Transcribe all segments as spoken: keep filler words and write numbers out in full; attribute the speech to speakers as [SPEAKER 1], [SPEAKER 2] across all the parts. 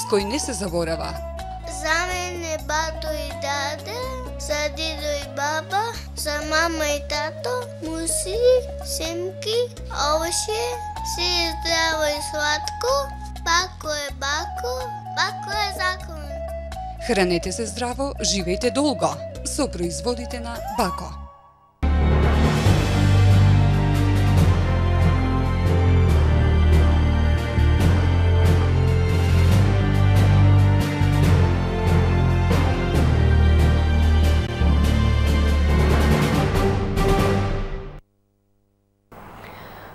[SPEAKER 1] Вирус кој не се заборава.
[SPEAKER 2] За мене бато и даде, за дидо и баба, за мама и тато, муси, семки, овоше, си е здраво и сладко, бако е бако, бако е закон.
[SPEAKER 1] Хранете се здраво, живејте долго со производите на Бако.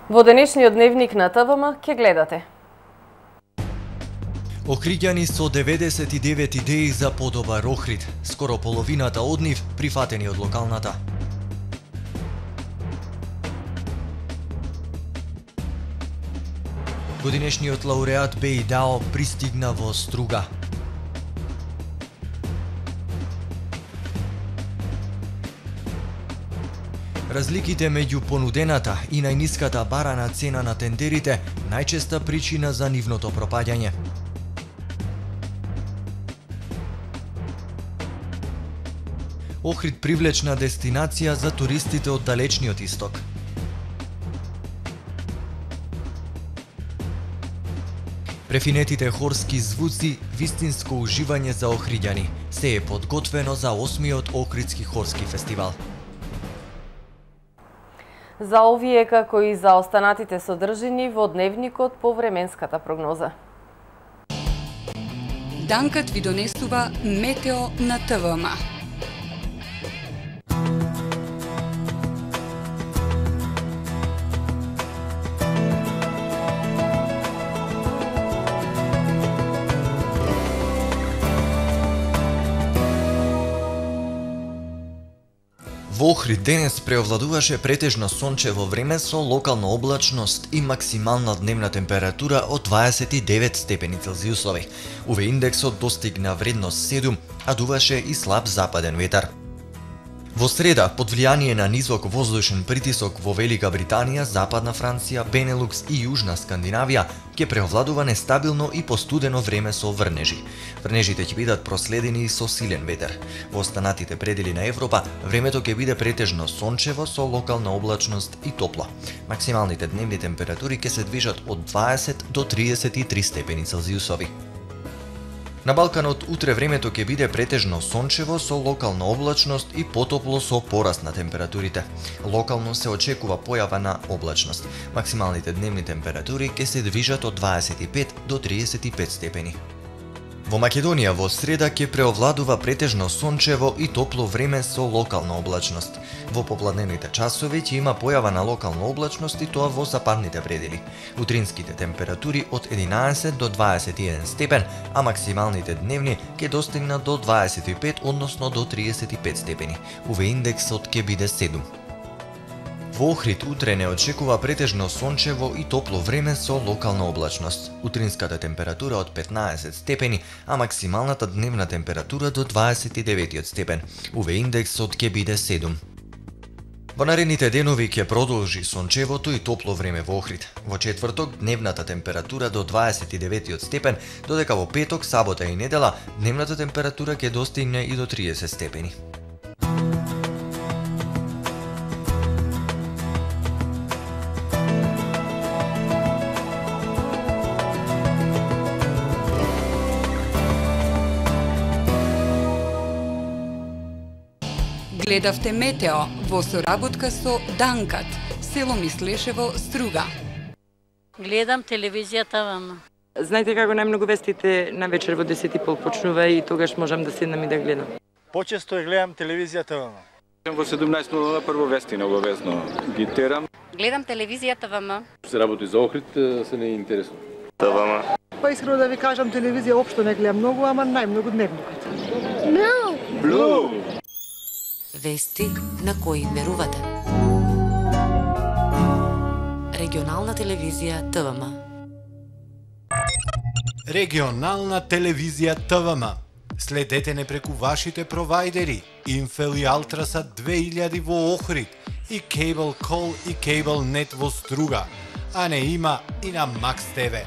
[SPEAKER 3] Во денешниот дневник на ТВМ ќе гледате.
[SPEAKER 4] Охриѓани со деветдесет и девет идеи за подобар Охрид, скоро половината од нив прифатени од локалната. Годинешниот лауреат Беј Дао пристигна во Струга. Разликите меѓу понудената и најниската барана цена на тендерите најчеста причина за нивното пропаѓање. Охрид привлечна дестинација за туристите од далечниот исток. Префинетите хорски звуци, вистинско уживање за охриѓани, се е подготвено за осмиот Охридски хорски фестивал.
[SPEAKER 3] За овие како и за останатите содржини во дневникот по временската прогноза.
[SPEAKER 1] Данкат ви донесува метео на ТВМ.
[SPEAKER 4] Во Охрид денес преовладуваше претежно сончево време со локална облачност и максимална дневна температура од дваесет и девет степени Целзиусови. У ве индексот достигна вредност седум, а дуваше и слаб западен ветар. Во среда, под влијание на низок воздушен притисок во Велика Британија, Западна Франција, Бенелукс и Јужна Скандинавија, ќе преовладува нестабилно и постудено време со врнежи. Врнежите ќе бидат проследени и со силен ветер. Во останатите предели на Европа, времето ќе биде претежно сончево со локална облачност и топло. Максималните дневни температури ќе се движат од дваесет до триесет и три степени Целзиусови. На Балканот утре времето ќе биде претежно сончево со локална облачност и потопло со пораст на температурите. Локално се очекува појава на облачност. Максималните дневни температури ќе се движат од дваесет и пет до триесет и пет степени. Во Македонија во среда ќе преовладува претежно сончево и топло време со локална облачност. Во попладневните часови ќе има појава на локална облачност и тоа во западните предели. Утринските температури од единаесет до дваесет и еден степен, а максималните дневни ќе достигнат до дваесет и пет, односно до триесет и пет степени. У ве индексот ќе биде седум. Во Охрид утре не очекува претежно сончево и топло време со локална облачност. Утринската температура од петнаесет степени, а максималната дневна температура до дваесет и деветиот степен. У ве индексот ќе биде седум. Во наредните денови ќе продолжи сончевото и топло време во Охрид. Во четврток дневната температура до дваесет и деветиот степен, додека во петок, сабота и недела дневната температура ќе достигне и до триесет степени.
[SPEAKER 1] Гледавте метео во соработка со Данкат, село Мислешево, Струга.
[SPEAKER 5] Гледам телевизија ТВМ.
[SPEAKER 6] Знаете како најмногу вестите на вечер во десет и пол почнува и тогаш можам да седнам и да гледам.
[SPEAKER 7] Почесто ја гледам телевизија ТВМ.
[SPEAKER 8] Во седумнаесет нула прво вести необавезно ги терам.
[SPEAKER 5] Гледам телевизија ТВМ.
[SPEAKER 8] Се работи за Охрид, се не е интересно.
[SPEAKER 9] ТВМ. Па искрено да ви кажам, телевизија општо не гледам многу, ама најмногу дневникот.
[SPEAKER 2] Блу!
[SPEAKER 8] Блу!
[SPEAKER 10] Вести на кои верувате. Регионална телевизија ТВМ.
[SPEAKER 11] Регионална телевизија ТВМ. Следете не преку вашите провайдери Инфел и Алтрасат две илјади во Охрид и Cable Call и Cable Net во Струга, а не има и на Макс ТВ.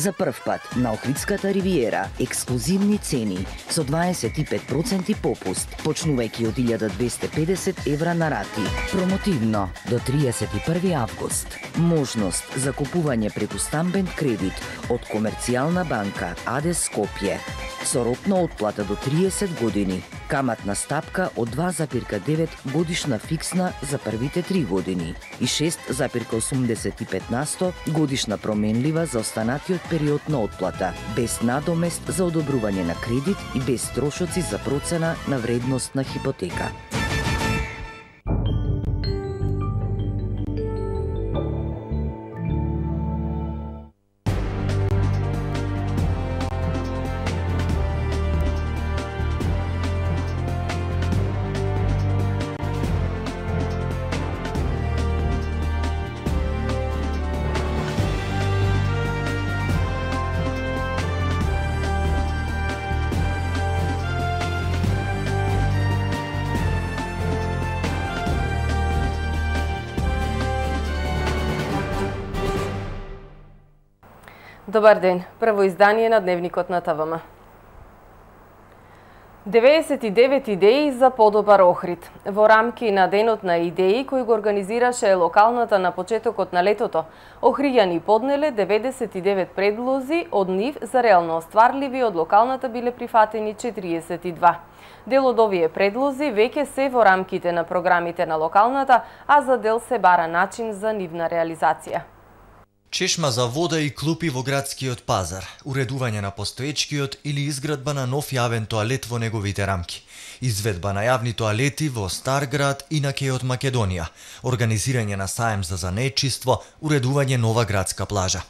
[SPEAKER 12] За прв пат на Охридската ривиера ексклузивни цени со дваесет и пет проценти попуст, почнувајќи од илјада двесте и педесет евра на рати. Промотивно до триесет и први август. Можност за купување преку стамбен кредит од Комерцијална банка АД Скопје со рок на отплата до триесет години. Каматна стапка од два запирка девет годишна фиксна за првите три години и шест запирка осумдесет и пет на сто годишна променлива за останатиот период на отплата, без надомест за одобрување на кредит и без трошоци за процена на вредност на хипотека.
[SPEAKER 3] Добар ден, прво издание на Дневникот на ТВМ. деветдесет и девет идеи за подобар Охрид. Во рамки на Денот на идеи кој го организираше локалната на почетокот на летото, охриѓани поднеле деветдесет и девет предлози, од нив за реално остварливи од локалната биле прифатени четириесет и два. Дел од овие предлози веќе се во рамките на програмите на локалната, а за дел се бара начин за нивна реализација.
[SPEAKER 4] Чешма за вода и клупи во градскиот пазар, уредување на постоечкиот или изградба на нов јавен тоалет во неговите рамки, изведба на јавни тоалети во Стар град и на Кеот Македонија, организирање на саем за занечиство, уредување нова градска плажа.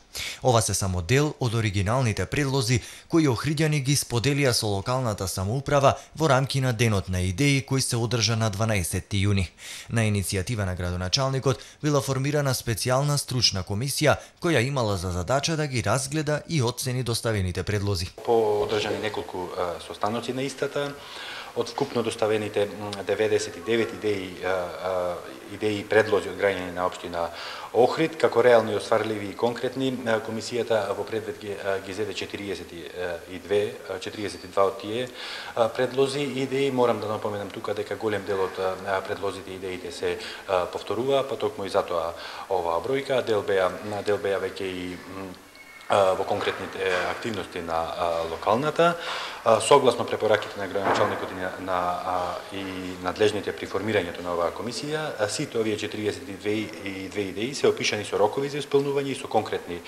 [SPEAKER 4] Ова се само дел од оригиналните предлози кои охриѓани ги споделија со локалната самоуправа во рамки на Денот на идеи кој се одржа на дванаесети јуни. На иницијатива на градоначалникот била формирана специјална стручна комисија која имала за задача да ги разгледа и оцени доставените предлози.
[SPEAKER 8] По одржани неколку состаноци на истата, од вкупно доставените деветдесет и девет идеи, идеи и предлози од граѓани на општина Охрид, како реални, остварливи и конкретни, комисијата во предвид ги, ги зеде четириесет и две, четириесет и два од тие предлози и идеи. Морам да напоменам тука дека голем дел од предлозите и идеите се повторува, па токму и затоа оваа бројка. Дел беа, дел беа веќе и во конкретните активности на локалната, согласно препораките на градоначалникот и на, на и надлежните при формирањето на оваа комисија, сите овие четириесет и две идеи се опишани со рокови за исполнување и со конкретни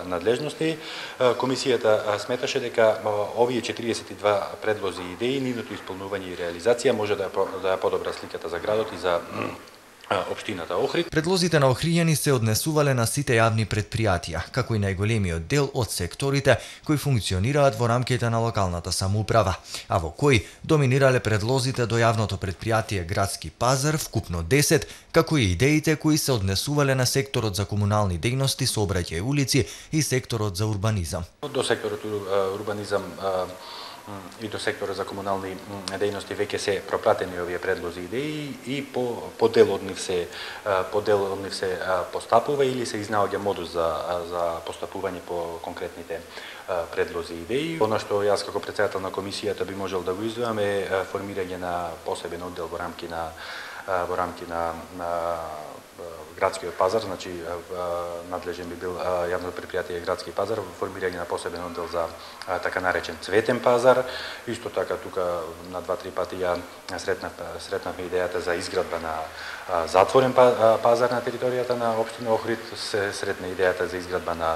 [SPEAKER 8] надлежности. Комисијата сметаше дека овие четириесет и два предлози и идеи, нивното исполнување и реализација може да ја подобра сликата за градот и за општината Охрид.
[SPEAKER 4] Предлозите на охриѓани се однесувале на сите јавни предпријатија, како и најголемиот дел од секторите кои функционираат во рамките на локалната самоуправа, а во кои доминирале предлозите до јавното предпријатие Градски пазар, вкупно десет, како и идеите кои се однесувале на секторот за комунални дејности, сообраќај, улици и секторот за урбанизам.
[SPEAKER 8] До секторот урбанизам и до сектора за комунални дејности веќе се пропратени овие предлози идеи и по, по дел од нив се по дел од нив се постапува или се изнаоѓа модус за за постапување по конкретните предлози идеи. Она што јас како претседател на комисијата би можел да го издвојам е формирање на посебен оддел во рамки на во рамки на, на Градскиот пазар, значи надлежен би бил јавното предпријатие Градски пазар, формирање на посебен оддел за така наречен цветен пазар. Исто така тука на два-три пати ја сретнав сретнавме идејата за изградба на затворен пазар на територијата на општина Охрид, се сретна идејата за изградба на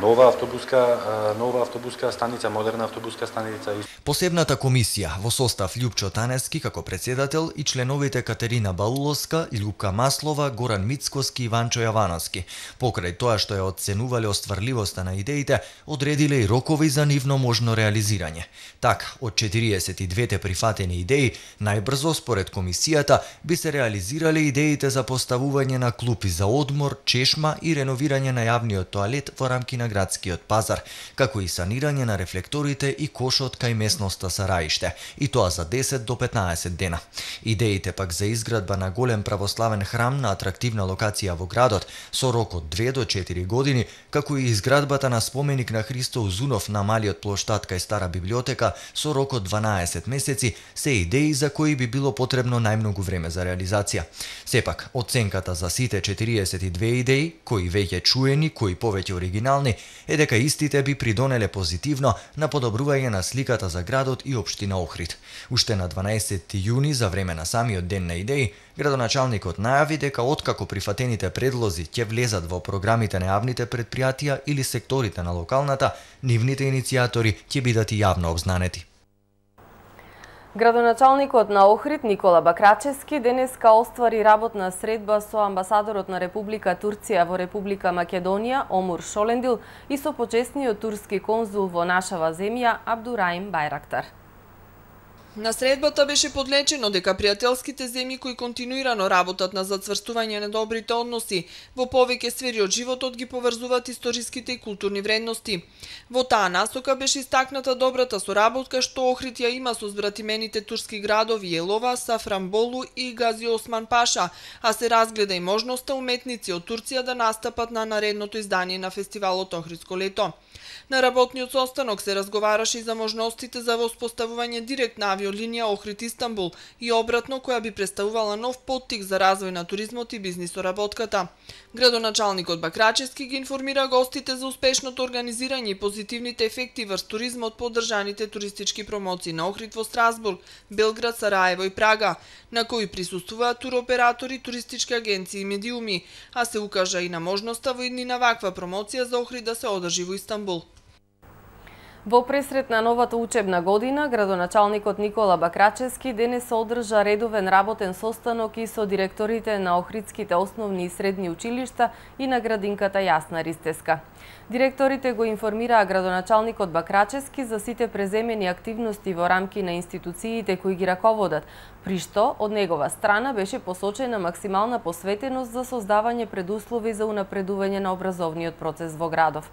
[SPEAKER 8] нова автобуска нова автобуска станица, модерна автобуска станица.
[SPEAKER 4] Посебната комисија во состав Љупчо Танески како председател и членовите Катерина Бауловска, Љупка Маслова, Горан Мицкоски и Ванчо Јавановски, покрај тоа што ја оценувале остварливоста на идеите, одредиле и рокови за нивно можно реализирање. Така, од четириесет и две прифатени идеи, најбрзо според комисијата би се реализирале идеите за поставување на клупи за одмор, чешма и реновирање на јавниот тоалет во рамки на Градскиот пазар, како и санирање на рефлекторите и кошот кај местноста Сараиште, и тоа за десет до петнаесет дена. Идеите пак за изградба на голем православен храм на атрактивна локација во градот со рок од две до четири години, како и изградбата на споменик на Христо Узунов на малиот плоштад кај Стара библиотека со рок од дванаесет месеци, се идеи за кои би било потребно најмногу време за реализација. Сепак, оценката за сите четириесет и две идеи, кои веќе чуени, кои повеќе оригинални, е дека истите би придонеле позитивно на подобрување на сликата за градот и општина Охрид. Уште на дванаесети јуни, за време на самиот ден на идеи, градоначалникот најави дека откако прифатените предлози ќе влезат во програмите на јавните предпријатија или секторите на локалната, нивните иницијатори ќе бидат и јавно обзнанети.
[SPEAKER 3] Градоначалникот на Охрид Никола Бакрачевски денеска оствари работна средба со амбасадорот на Република Турција во Република Македонија Омур Шолендил и со почесниот турски конзул во нашава земја Абдураим Байрактар.
[SPEAKER 13] На средбата беше подлечено дека пријателските земји кои континуирано работат на зацврстување на добрите односи во повеќе сфери од животот ги поврзуваат историските и културни вредности. Во таа насока беше истакната добрата соработка што Охрид ја има со збратимените турски градови Елова, Сафранболу и Гази Осман Паша, а се разгледа и можноста уметници од Турција да настапат на наредното издание на фестивалот Охридско лето. На работниот состанок се разговараше и за можностите за воспоставување директна авиолинија Охрид-Истанбул и обратно, која би представувала нов поттик за развој на туризмот и бизнис соработката. Градоначалникот Бакрачевски ги информира гостите за успешното организирање и позитивните ефекти врз туризмот по одржаните туристички промоции на Охрид во Страсбург, Белград, Сараево и Прага, на кои присуствуваат туроператори, туристички агенции и медиуми, а се укажа и на можноста во иднина ваква промоција за Охрид да се одржи во Истанбул.
[SPEAKER 3] Во пресрет на новата учебна година, градоначалникот Никола Бакрачевски денес се одржа редовен работен состанок и со директорите на Охридските основни и средни училишта и на градинката Јасна Ристеска. Директорите го информираа градоначалникот Бакрачевски за сите преземени активности во рамки на институциите кои ги раководат, при што од негова страна беше посочена максимална посветеност за создавање предуслови за унапредување на образовниот процес во градов.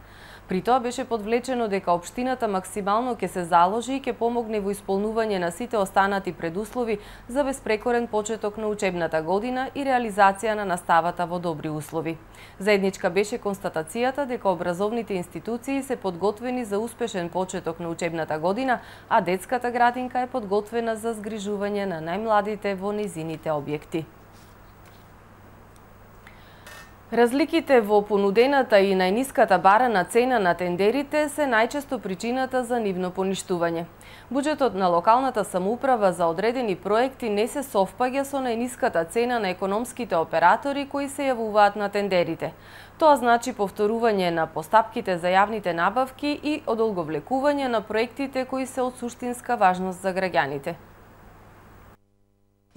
[SPEAKER 3] При тоа беше подвлечено дека општината максимално ќе се заложи и ќе помогне во исполнување на сите останати предуслови за безпрекорен почеток на учебната година и реализација на наставата во добри услови. Заедничка беше констатацијата дека образовните институции се подготвени за успешен почеток на учебната година, а детската градинка е подготвена за згрижување на најмладите во низините објекти. Разликите во понудената и најниската барана цена на тендерите се најчесто причината за нивно поништување. Буџетот на локалната самоуправа за одредени проекти не се совпаѓа со најниската цена на економските оператори кои се јавуваат на тендерите. Тоа значи повторување на постапките за јавните набавки и одолговлекување на проектите кои се од суштинска важност за граѓаните.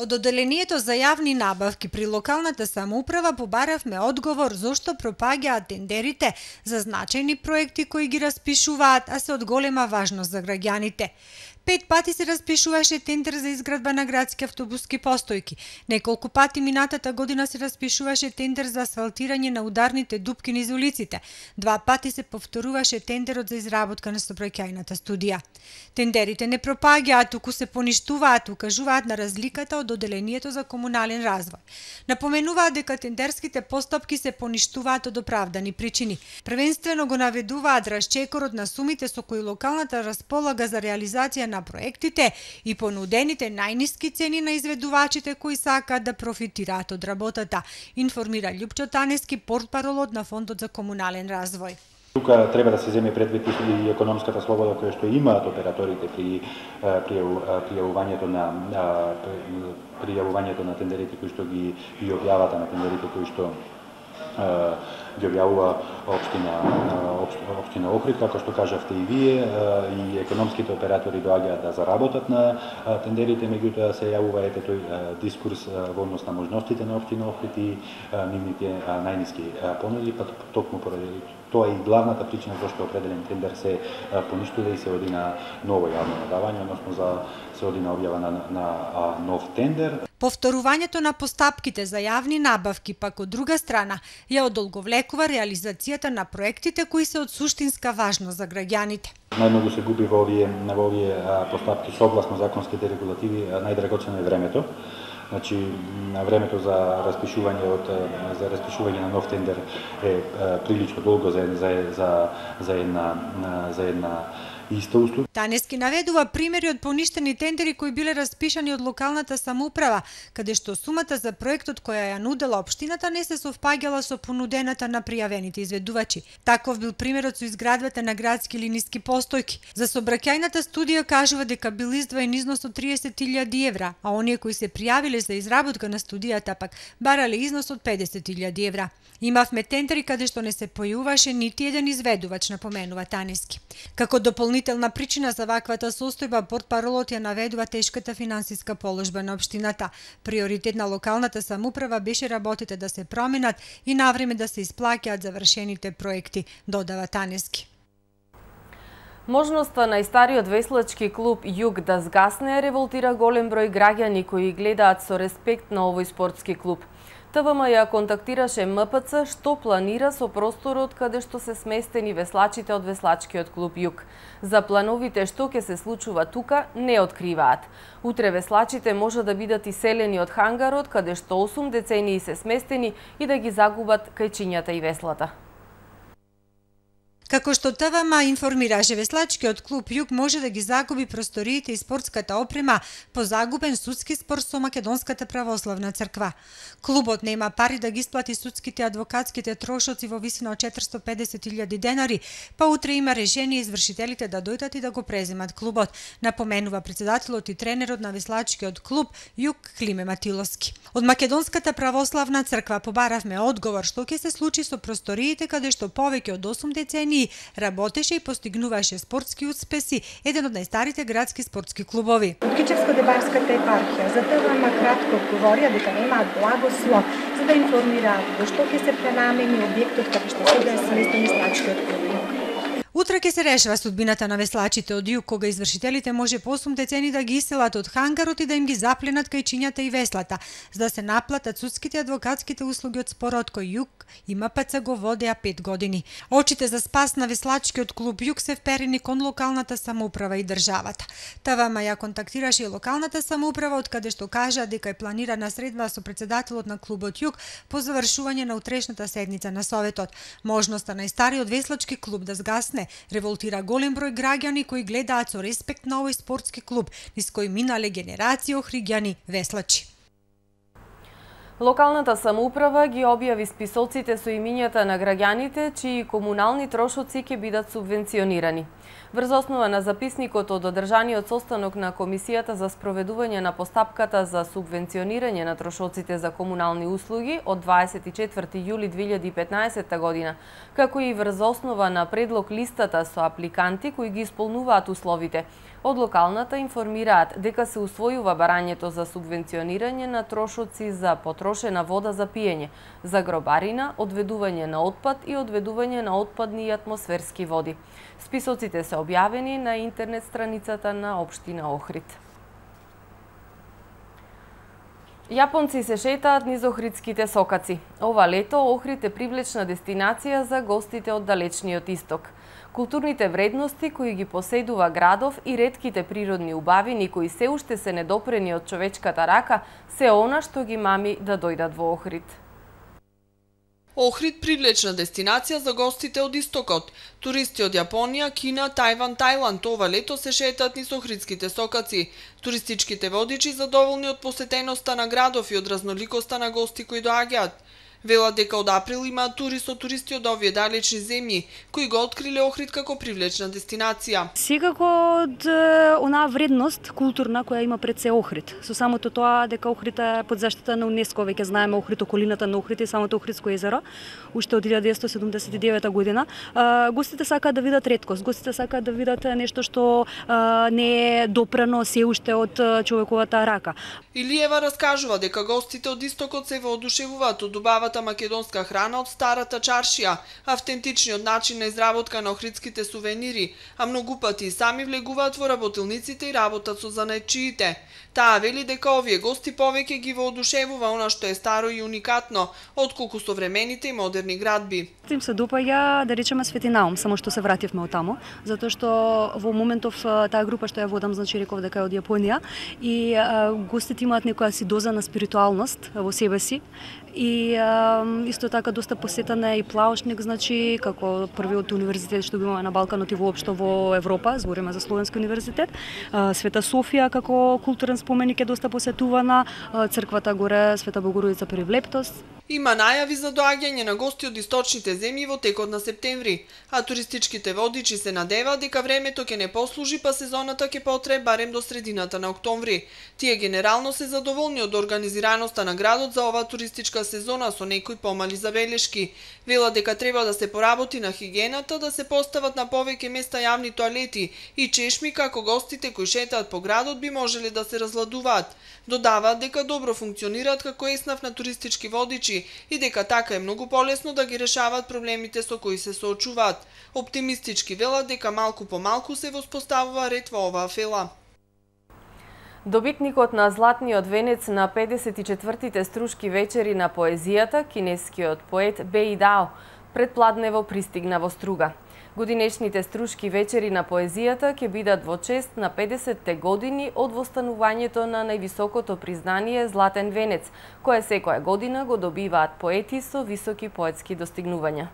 [SPEAKER 14] Од одделението за јавни набавки при локалната самоуправа побаравме одговор зошто пропаѓаат тендерите за значајни проекти кои ги распишуваат, а се од голема важност за граѓаните. Пет пати се распишуваше тендер за изградба на градски автобуски постојки. Неколку пати минатата година се распишуваше тендер за асфалтирање на ударните дупки низ улиците. Два пати се повторуваше тендерот за изработка на сообраќајната студија. Тендерите не пропаѓаат, туку се поништуваат, укажуваат на разликата од одделението за комунален развој. Напоменуваат дека тендерските постапки се поништуваат од оправдани причини. Првенствено го наведуваат расчекорот на сумите со кои локалната располага за реализација на проектите и понудените најниски цени на изведувачите кои сакаат да профитираат од работата, информира Љупчо Танески, портпаролот на Фондот за комунален развој.
[SPEAKER 8] Тука треба да се земе предвид и економската слобода која што имаат операторите при пријавувањето на пријавувањето на тендерите кои што ги ги објавата на тендерите кои што ги објавува општина општина Охрид, како што кажавте и вие, и економските оператори доаѓаат да заработат на тендерите, меѓутоа се јавува ете тој дискурс во однос на можностите на општина Охрид и нивните најниски понуди, па токму поради Тоа е и главната причина зашто определен тендер се поништува и се оди на ново јавно надавање, односно за се оди на објава на, на, на нов тендер.
[SPEAKER 14] Повторувањето на постапките за јавни набавки, пак од друга страна, ја одолговлекува реализацијата на проектите кои се од суштинска важност за граѓаните.
[SPEAKER 8] Најмногу се губи во овие, во овие постапки согласно законските регулативи, најдрагоцено е времето. Значи, времето за распишување од за распишување на нов тендер е прилично долго за за за за една за една иста услуга.
[SPEAKER 14] Танески наведува примери од поништени тендери кои биле распишани од локалната самоуправа, каде што сумата за проектот која ја нудела општината не се совпаѓала со понудената на пријавените изведувачи. Таков бил примерот со изградбата на градски линиски постојки. За сообраќајната студија кажува дека бил издвоен износ од триесет илјади евра, а оние кои се пријавиле за изработка на студијата пак барале износ од педесет илјади евра. Имавме тендери каде што не се појуваше нити еден изведувач, напоменува Танески. Како дополнителна причина за ваквата состојба, портпаролот ја наведува тешката финансиска положба на општината. Приоритет на локалната самоуправа беше работите да се променат и навреме да се исплаќаат завршените проекти, додава Танески.
[SPEAKER 3] Можноста најстариот веслачки клуб Југ да згасне револтира голем број граѓани кои гледаат со респект на овој спортски клуб. ТВМ ја контактираше М П Ц што планира со просторот каде што се сместени веслачите од веслачкиот клуб Југ. За плановите што ќе се случува тука не откриваат. Утре веслачите може да бидат иселени од хангарот каде што осум децении се сместени и да ги загубат кајчињата и веслата.
[SPEAKER 14] Како што ТВМ информираше, веслачкиот клуб Југ може да ги загуби просториите и спортската опрема по загубен судски спор со Македонската православна црква. Клубот нема пари да ги исплати судските адвокатските трошоци во висина од четиристотини и педесет илјади денари, па утре има решение извршителите да дојдат и да го преземат клубот, напоменува председателот и тренерот на веслачкиот клуб Југ Климе Матиловски. Од Македонската православна црква побаравме одговор што ќе се случи со просториите каде што повеќе од осум децении работеше и постигнуваше спортски успеси, еден од најстарите градски спортски клубови.
[SPEAKER 15] Од Кичевско-Дебарската епархија за ТВМ кратко одговорија дека немаат благослов за да информираат во што ќе се пренамени објектот каде што сега е сместен веслачкиот клуб.
[SPEAKER 14] Утре ќе се решава судбината на веслачите од Југ, кога извршителите може по осум децени да ги иселат од хангарот и да им ги запленат кајчињата и веслата, за да се наплатат судските адвокатските услуги од спорот кој Југ и М П Ц го водеа пет години. Очите за спас на веслачкиот клуб Југ се вперени кон локалната самоуправа и државата. ТВМ ја контактираше и локалната самоуправа, од каде што кажа дека е планирана средба со председателот на клубот Југ по завршување на утрешната седница на советот. Можноста најстариот веслачки клуб да згасне револтира голем број граѓани кои гледаат со респект на овој спортски клуб, низ кој минале генерации охриѓани веслачи.
[SPEAKER 3] Локалната самоуправа ги објави списоците со имињата на граѓаните чии комунални трошоци ќе бидат субвенционирани. Врз основа на записникот од одржаниот состанок на Комисијата за спроведување на постапката за субвенционирање на трошоците за комунални услуги од дваесет и четврти јули две илјади и петнаесетта година, како и врз основа на предлог листата со апликанти кои ги исполнуваат условите, од локалната информираат дека се усвојува барањето за субвенционирање на трошоци за потрошена вода за пиење, за гробарина, одведување на отпад и одведување на отпадни и атмосферски води. Списоците се објавени на интернет страницата на општина Охрид. Јапонци се шетаат низ охридските сокаци. Ова лето Охрид е привлечна дестинација за гостите од далечниот исток. Културните вредности кои ги поседува градов и ретките природни убавини кои се уште се недопрени од човечката рака се она што ги мами да дојдат во Охрид.
[SPEAKER 13] Охрид привлечна дестинација за гостите од истокот. Туристи од Јапонија, Кина, Тајван, Тајланд ова лето се шетаат низ охридските сокаци. Туристичките водичи задоволни од посетеноста на градов и од разноликоста на гости кои доаѓаат. Велат дека од април имаат тури со туристи од овие далечни земји, кои го откриле Охрид како привлечна дестинација.
[SPEAKER 16] Секако од онаа вредност културна која има пред се Охрид. Со самото тоа дека Охрид е под заштита на УНЕСКО, веќе знаеме Охрид, околината на Охрид и самото Охридско езеро, уште од илјада деветстотини седумдесет и девета година. Гостите сакаат да видат реткост, гостите сакаат да видат нешто што не е допрано се уште од човековата рака.
[SPEAKER 13] Илиева раскажува дека гостите од истокот се воодушевуваат од убавата најдобрата македонска храна од старата чаршија, автентичниот начин на изработка на охридските сувенири, а многу пати и сами влегуваат во работилниците и работат со занајчиите. Таа вели дека овие гости повеќе ги воодушевува она што е старо и уникатно, отколку современите и модерни градби.
[SPEAKER 16] Им се допаѓа, да речеме, Светинаум, само што се вративме од тамо, затоа што во моментов таа група што ја водам, значи реков дека е од Јапонија, и а, гостите имаат некоја си доза на спиритуалност во себе си. И а, исто така доста посетен е и Плаушник, значи како првиот универзитет што го имаме на Балканот и воопшто во Европа, збориме за Словенски универзитет. А, Света Софија како културен споменик е доста посетувана, а, црквата горе Света Богородица при Влептос.
[SPEAKER 13] Има најави за доаѓање на гости од источните земји во текот на септември, а туристичките водичи се надеваат дека времето ќе не послужи, па сезоната ќе потрае барем до средината на октомври. Тие генерално се задоволни од организираноста на градот за оваа туристичка сезона со некои помали забелешки. Вела дека треба да се поработи на хигиената, да се постават на повеќе места јавни тоалети и чешми како гостите кои шетаат по градот би можеле да се разладуваат. Додаваат дека добро функционираат како еснав на туристички водичи и дека така е многу полесно да ги решаваат проблемите со кои се соочуваат. Оптимистички велат дека малку по малку се воспоставува ред во оваа фела.
[SPEAKER 3] Добитникот на Златниот венец на педесет и четвртите струшки вечери на поезијата, кинескиот поет Беи Дао, предпладнево пристигна во Струга. Годинешните струшки вечери на поезијата ќе бидат во чест на педесетте години од востанувањето на највисокото признание Златен венец, кое секоја година го добиваат поети со високи поетски достигнувања.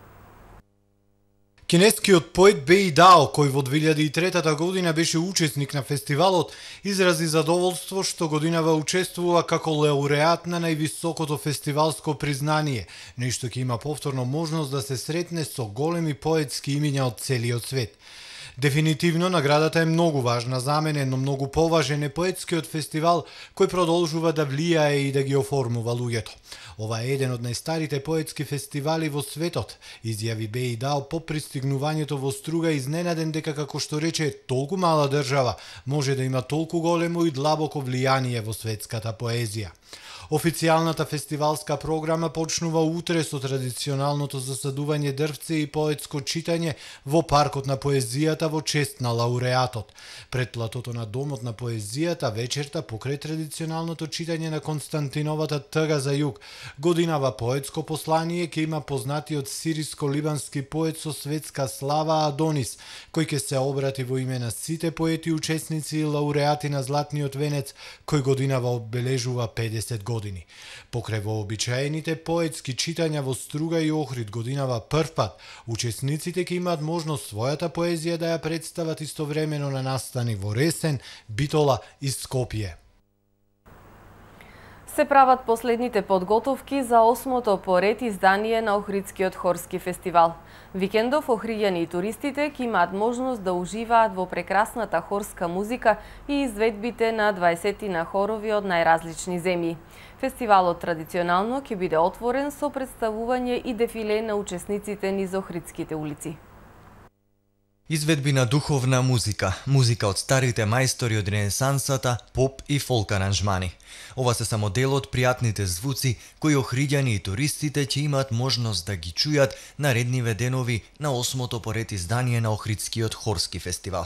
[SPEAKER 11] Кинескиот поет Беи Дао, кој во две илјади и трета година беше учесник на фестивалот, изрази задоволство што годинава учествува како лауреат на највисокото фестивалско признание, нешто ќе има повторно можност да се сретне со големи поетски имиња од целиот свет. Дефинитивно, наградата е многу важна за мене, но многу поважен е поетскиот фестивал кој продолжува да влијае и да ги оформува луѓето. Ова е еден од најстарите поетски фестивали во светот, изјави Беи Дао по пристигнувањето во Струга, изненаден дека, како што рече, толку мала држава може да има толку големо и длабоко влијание во светската поезија. Официјалната фестивалска програма почнува утре со традиционалното засадување дрвце и поетско читање во паркот на поезијата во чест на лауреатот. Пред платото на домот на поезијата вечерта покрај традиционалното читање на Константиновата тъга за југ, годинава поетско послание ќе има познатиот сириско-либански поет со светска слава Адонис, кој ќе се обрати во име на сите поети учесници и лауреати на Златниот венец, кој годинава обележува педесет години. Покрај вообичаените поетски читања во Струга и Охрид годинава прв пат, учесниците ќе имаат можност својата поезија да ја представат истовремено на настани во Ресен, Битола и Скопје.
[SPEAKER 3] Се прават последните подготовки за осмото поред издание на Охридскиот хорски фестивал. Викендов охриѓани и туристите ќе имаат можност да уживаат во прекрасната хорска музика и изведбите на дваесетина хорови од најразлични земји. Фестивалот традиционално ќе биде отворен со представување и дефиле на учесниците низ Охридските улици.
[SPEAKER 4] Изведби на духовна музика, музика од старите мајстори од ренесансата, поп и фолк аранжмани. Ова се само дел од пријатните звуци кои охриѓани и туристите ќе имаат можност да ги чујат наредниве денови на осмото поред издание на Охридскиот хорски фестивал.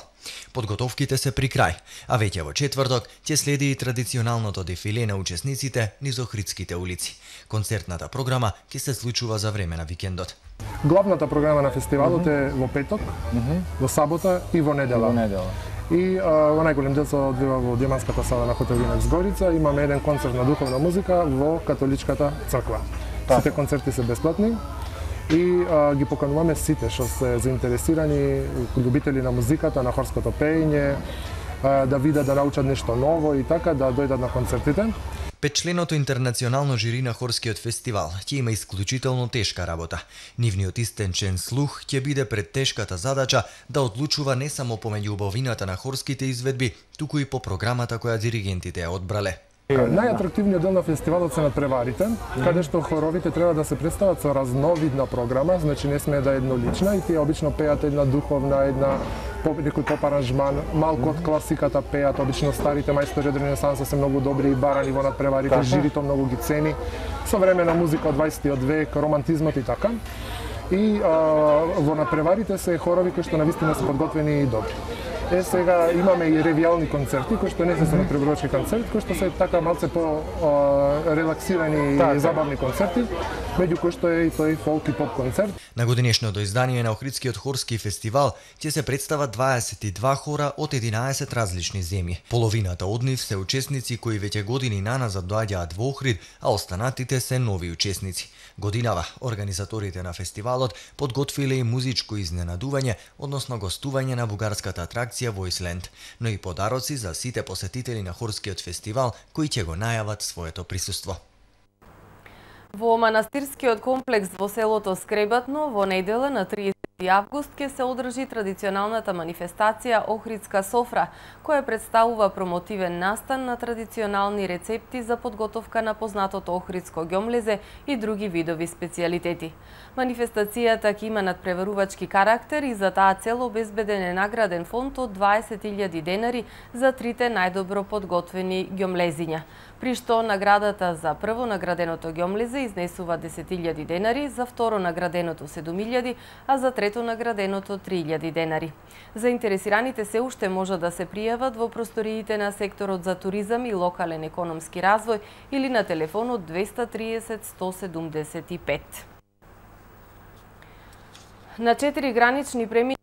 [SPEAKER 4] Подготовките се при крај, а веќе во четврток ќе следи и традиционалното дефиле на учесниците низ Охридските улици. Концертната програма ќе се случува за време на викендот.
[SPEAKER 17] Главната програма на фестивалот е во петок, во сабота и во недела. Во недела. И а, во најголем дел се одвива во Деманската сала на хотел Винекс Горица. Имаме еден концерт на духовна музика во католичката црква. Сите концерти се бесплатни и а, ги покануваме сите што се заинтересирани, љубители на музиката, на хорското пеење, а, да видат, да научат нешто ново и така, да дојдат на концертите.
[SPEAKER 4] Петчленото интернационално жири на хорскиот фестивал ќе има исклучително тешка работа. Нивниот истенчен слух ќе биде пред тешката задача да одлучува не само помеѓу убавината на хорските изведби, туку и по програмата која диригентите ја одбрале.
[SPEAKER 17] Најатрактивниот дел на фестивалот се надпреварите, каде што хоровите треба да се представат со разновидна програма, значи не смее да е еднолична и тие обично пеат една духовна, една некој поп аранжман, малку од класиката пеат, обично старите мајстори од Ренесанса се многу добри и барани во надпреварите, жирито многу ги цени, современа музика од дваесеттиот век, романтизмот и така. И а, во надпреварите се хорови кои што навистина се подготвени и добри. Е, сега имаме и ревијални концерти, кои што не се се надпреварувачки концерти, кои што се така малце по а, релаксирани и забавни концерти, меѓу кои што е и тој фолк и поп концерт.
[SPEAKER 4] На годинешното издание на Охридскиот хорски фестивал ќе се представат дваесет и два хора од единаесет различни земји. Половината од нив се учесници кои веќе години наназад доаѓаат во Охрид, а останатите се нови учесници. Годинава организаторите на фестивалот подготвиле и музичко изненадување, односно гостување на бугарската атракција Voiceland, но и подароци за сите посетители на хорскиот фестивал кои ќе го најават своето присуство.
[SPEAKER 3] Во манастирскиот комплекс во селото Скребатно во недела на триесети август ќе се одржи традиционалната манифестација Охридска софра, која представува промотивен настан на традиционални рецепти за подготовка на познатото охридско ѓомлезе и други видови специјалитети. Манифестацијата ќе има надпреварувачки карактер и за таа цел обезбеден е награден фонд од дваесет илјади денари за трите најдобро подготвени ѓомлезиња, при што наградата за прво награденото ѓомлезе изнесува десет илјади денари, за второ награденото седум илјади, а за трето награденото три илјади денари. Заинтересираните се уште може да се пријават во просториите на секторот за туризам и локален економски развој или на телефонот двеста триесет сто седумдесет и пет. На четири гранични премини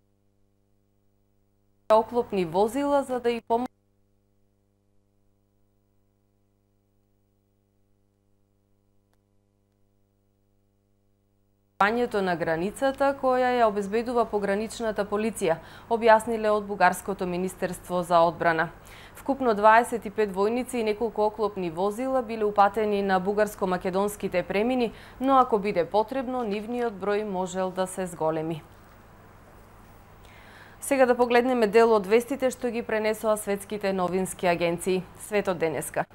[SPEAKER 3] оклопни возила за да и помогнат пањето на границата која ја обезбедува пограничната полиција, објасниле од Бугарското министерство за одбрана. Вкупно дваесет и пет војници и неколку оклопни возила биле упатени на бугарско-македонските премини, но ако биде потребно, нивниот број можел да се зголеми. Сега да погледнеме дел од вестите што ги пренесоа светските новински агенции. Светот денеска.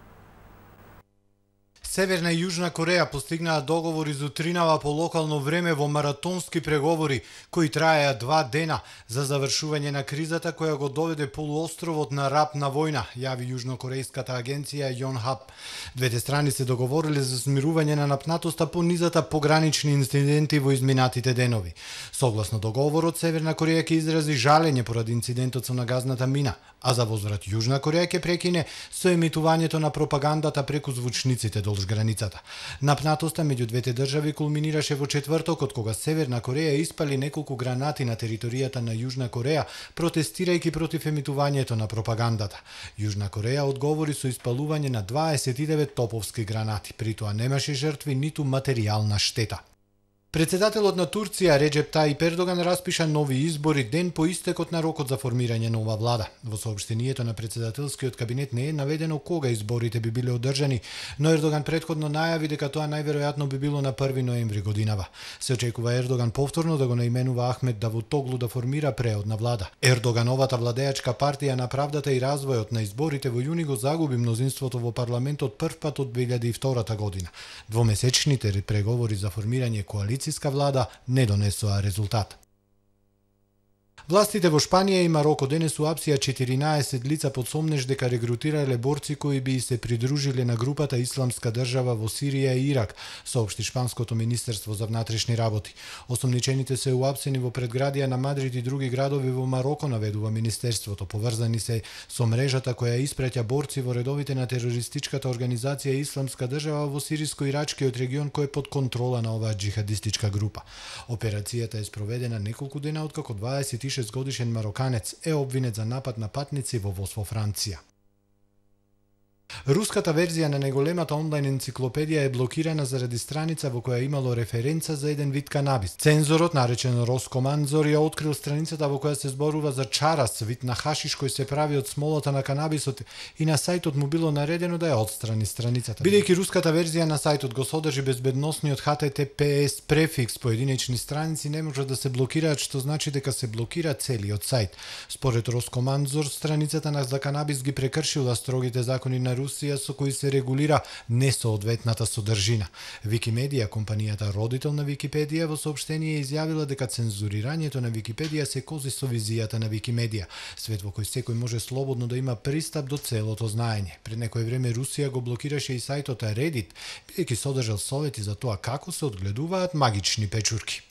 [SPEAKER 11] Северна и Јужна Кореја постигнаа договори за утринава по локално време во маратонски преговори кои траеа два дена за завршување на кризата која го доведе полуостровот на рап на војна, јави јужнокорејската агенција Јонхап. Двете страни се договориле за смирување на напнатоста по низата погранични инциденти во изминатите денови. Согласно договорот, Северна Кореја ќе изрази жалење поради инцидентот со нагазната мина, а за возврат Јужна Кореја ќе прекине со емитувањето на пропагандата преку звучниците долж границата. Напнатоста меѓу двете држави кулминираше во четвртокот кога Северна Кореја испали неколку гранати на територијата на Јужна Кореја, протестирајќи против емитувањето на пропагандата. Јужна Кореја одговори со испалување на дваесет и девет топовски гранати, при тоа немаше жртви ниту материјална штета. Председателот на Турција Реджеп Таип Ердоган распиша нови избори ден по истекот на рокот за формирање нова влада. Во соопштението на председателскиот кабинет не е наведено кога изборите би биле одржани, но Ердоган претходно најави дека тоа најверојатно би било на први ноември годинава. Се очекува Ердоган повторно да го наименува Ахмет Давутоглу да формира преодна влада. Ердогановата владеачка партија на правдата и развојот на изборите во јуни го загуби мнозинството во парламентот првпат од две илјади и втора година. Двомесечните преговори за формирање коалиција влада не донесоа резултат. Властите во Шпанија и Мароко денес уапсија четиринаесет лица под сомнеж дека регрутирале борци кои би се придружиле на групата Исламска држава во Сирија и Ирак, соопшти Шпанското министерство за внатрешни работи. Осомничените се уапсени во предградија на Мадрид и други градови во Мароко, наведува министерството, поврзани се со мрежата која испраќа борци во редовите на терористичката организација Исламска држава во сириско-ирачкиот регион кој е под контрола на оваа џихадистичка група. Операцијата е спроведена неколку дена откако дваесет и шест годишен мароканец е обвинет за напад на патници во воз во Франција. Руската верзија на најголемата онлайн енциклопедија е блокирана заради страница во која имало референца за еден вид канабис. Цензорот, наречен Роскоманзор, ја открил страницата во која се зборува за чарас, вид на хашиш кој се прави од смолата на канабисот и на сајтот му било наредено да ја отстрани страницата. Бидејќи руската верзија на сајтот го содржи безбедносниот Х Т Т П С префикс, поединечни страници не може да се блокираат, што значи дека се блокира целиот сајт. Според Роскоманзор, страницата на за канабис ги прекршила строгите закони на Русија со кои се регулира несоодветната содржина. Викимедија, компанијата родител на Википедија, во соопштение изјавила дека цензурирањето на Википедија се кози со визијата на Викимедија, свет во кој секој може слободно да има пристап до целото знаење. Пред некој време Русија го блокираше и сајтот Reddit, бидејќи содржал совети за тоа како се одгледуваат магични печурки.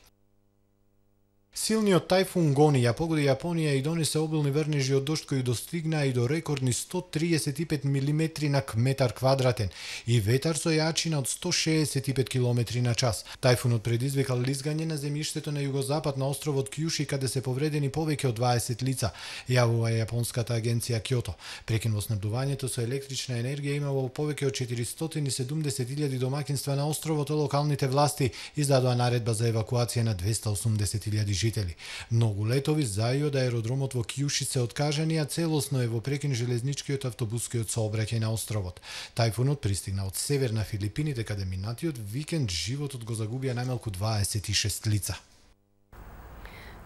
[SPEAKER 11] Силниот тајфун Гони ја погоди Јапонија и донесе обилни врнежи од дожд кои достигнаа и до рекордни сто триесет и пет милиметри на метар квадратен и ветар со јачина од сто шеесет и пет километри на час. Тајфунот предизвикал лизгање на земјиштето на југозапад на островот Кјуши, каде се повредени повеќе од дваесет лица, јавува јапонската агенција Кјото. Прекин во снабдувањето со електрична енергија имало повеќе од четиристотини и седумдесет илјади домакинства на островот, а локалните власти издадоа наредба за евакуација на двесте и осумдесет илјади жители. Многу летови за и од аеродромот во Кјуши се откажани, а целосно е во прекин железничкиот автобускиот сообраќај на островот. Тајфунот пристигна од северна Филипините, каде минатиот викенд животот го загубија најмалку дваесет и шест лица.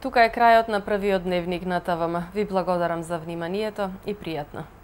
[SPEAKER 3] Тука е крајот на првиот дневник на ТВМ. Ви благодарам за вниманието и пријатно.